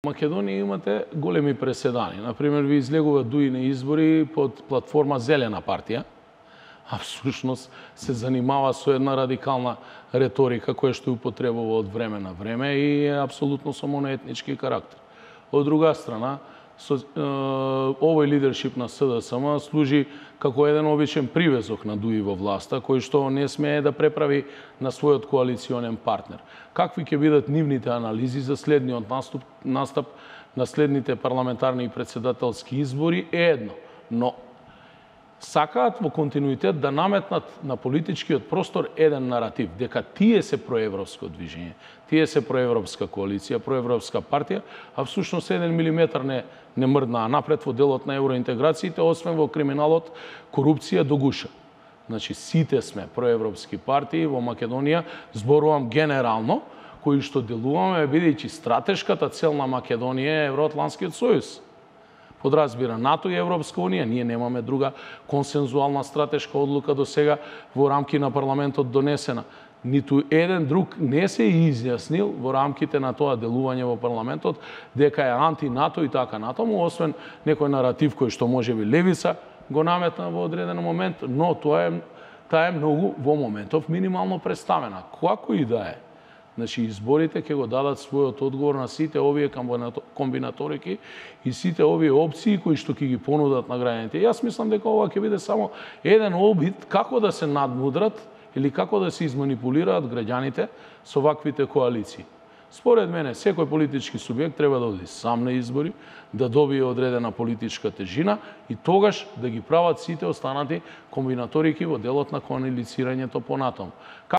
Македонија имате големи преседани. Например, ви излегува дуи на избори под платформа Зелена партија, а всушност се занимава со една радикална реторика која што употребува од време на време и е апсолутно со моноетнички карактер. Од друга страна, овој лидершип на СДСМ служи како еден обичен привезок на дуи во власта, кој што не смее да преправи на својот коалиционен партнер. Какви ќе бидат нивните анализи за следниот настап на следните парламентарни и председателски избори е едно, но сакаат во континуитет да наметнат на политичкиот простор еден наратив, дека тие се проевропско движење, тие се проевропска коалиција, проевропска партија, а всушност 1 милиметар не мрднаа напред во делот на евроинтеграциите, освен во криминалот, корупција до гуша. Значи, сите сме проевропски партии во Македонија, зборувам генерално, кои што делуваме, бидејќи стратешката цел на Македонија е Евроатлантскиот сојуз. Подразбира НАТО и Европска Унија, ние немаме друга консензуална стратешка одлука до сега во рамки на парламентот донесена. Ниту еден друг не се изјаснил во рамките на тоа делување во парламентот дека е анти-НАТО и така натаму, освен некој наратив кој што можеби левица го наметна во одреден момент, но таа е многу во моментов минимално представена. Како и да е. Значи, изборите ќе го дадат својот одговор на сите овие комбинаторики и сите овие опции кои што ќе ги понудат на граѓаните. Јас мислам дека ова ќе биде само еден обид како да се надмудрат или како да се изманипулираат граѓаните со ваквите коалиции. Според мене, секој политички субјект треба да оди сам на избори, да добие одредена политичка тежина и тогаш да ги прават сите останати комбинаторики во делот на коалицирањето понатаму.